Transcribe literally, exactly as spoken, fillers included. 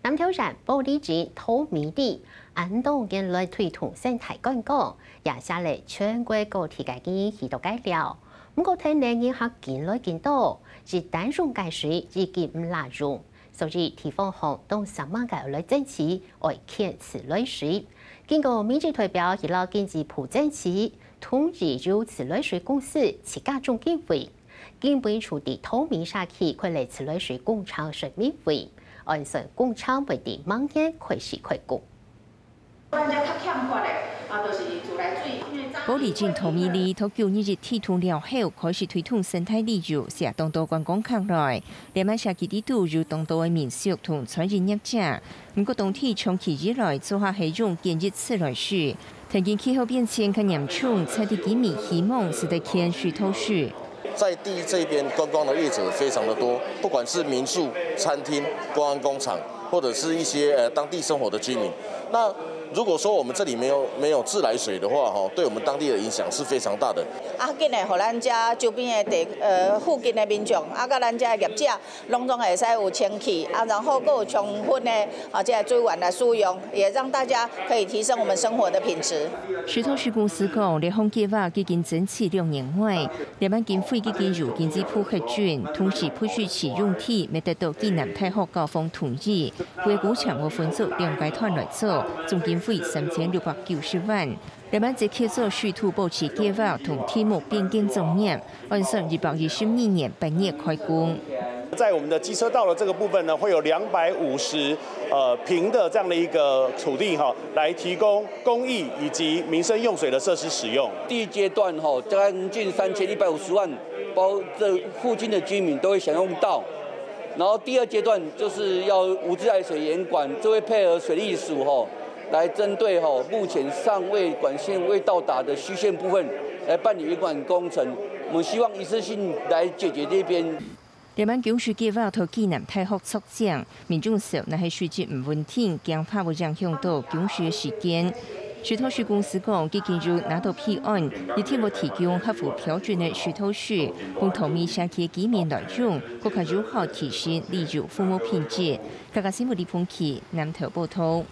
南投縣埔里鎮桃米里，恁多年來推動生態觀光，也寫了全國各地个人去到該尞。毋過，跈等人客緊來緊多，一旦用个水已經毋罅用，所以地方項當煞猛个來爭取，愛牽自來水。經過民意代表去摎經濟部爭取，同意由自來水公司自家種經費。 經文處在桃米社區開了自來水工程說明會，按算工程會在明年開始開工。埔里鎮桃米里，在舊年一推動了後，開始推動生態旅遊，吸引當多觀光客來。這滿社區裡肚有當多个民宿同餐飲業者，毋過當地長期以來做下係用堅一自來水， 天氣氣候變遷較嚴重，在地居民希望使得牽水道水。在地這邊觀光的業者非常的多，不管是民宿、餐廳、觀光工廠，或者是一些呃當地生活的居民。那如果說我們這裡沒有沒有自來水的話，哈，對我們當地的影響是非常大的。啊，緊來，予咱遮周邊的地呃附近的民眾，啊，佮咱遮的業者， 攏總會使有清氣，啊，然後閣有充分的啊這个資源來使用，也讓大家可以提升我們生活的品質。水道水公司講，這項計畫已經爭取兩年外，這滿經費已經由經濟部核准，同時配水池用地乜得到暨南大學校方同意，規劃將會分做兩階段來做，總經費三千六百九十萬。 這滿就協助水土保持計畫同地目變更作業，按算一百一十二年八月開工。在我們的機車道的這個部分呢，會有兩百五十呃坪的這樣的一個土地哈，來提供公益以及民生用水的設施使用。第一階段哈，將近三千一百五十萬，包這附近的居民都會享用到。然後第二階段就是要無自來水嚴管，這會配合水利署哈， 來針對吼目前尚未管線未到達的虛線部分來辦理維管工程。我們希望一次性來解決這邊。這滿供水計畫在暨南大學策展，民眾說若係水質毋穩定，驚怕會影響到供水个時間。水道水公司講，已經有拿到批案，一定會提供合乎標準个水道水，分桃米社區居民來用，更加有效提升旅遊服務品質。客家新聞李鳳琪南投報導。